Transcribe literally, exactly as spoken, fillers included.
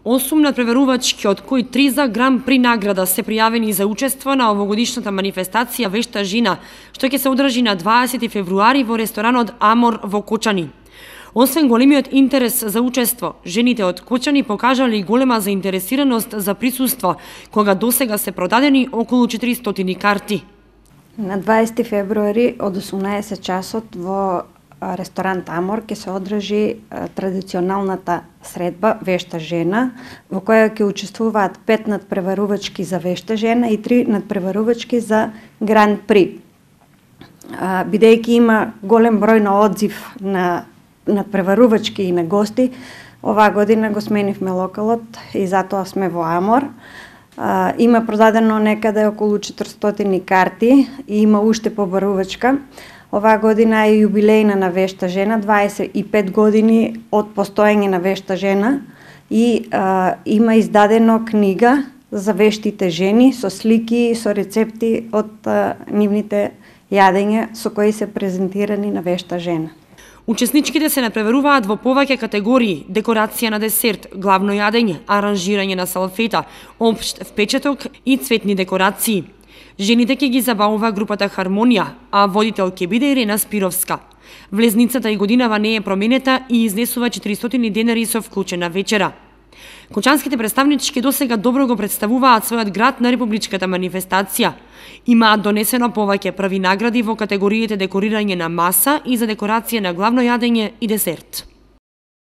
осум надпреварувачки, од кои три за Гран При награда се пријавени за учество на овогодишната манифестација Вешта жена, што ќе се одржи на дваесети февруари во ресторанот Амор во Кочани. Освен големиот интерес за учество, жените од Кочани покажале и голема заинтересираност за присуство, кога досега се продадени околу четиристотини карти. На дваесети февруари од осумнаесет часот во ресторант Амор ќе се одржи традиционалната средба Вешта жена, во која ќе учествуваат пет надпреварувачки за Вешта жена и три надпреварувачки за Гран При. Бидејќи има голем број на одзив на надпреварувачки и на гости, оваа година го сменивме локалот и затоа сме во Амор. Има продадено некаде околу четиристотини карти и има уште побарувачка. Оваа година е јубилејна на Вешта жена, дваесет и пет години од постоење на Вешта жена и а, има издадено книга за вештите жени со слики, со рецепти од а, нивните јадења со кои се презентирани на Вешта жена. Учесничките се надпреваруваат во повеќе категории: декорација на десерт, главно јадење, аранжирање на салфета, општ впечаток и цветни декорации. Жените ќе ги забавува групата Хармонија, а водител ќе биде Ирена Спировска. Влезницата и годинава не е променета и изнесува четиристотини денари со вклучена вечера. Кочанските представнички досега добро го представуваат својот град на републичката манифестација. Имаат донесено повеќе први награди во категориите декорирање на маса и за декорација на главно јадење и десерт.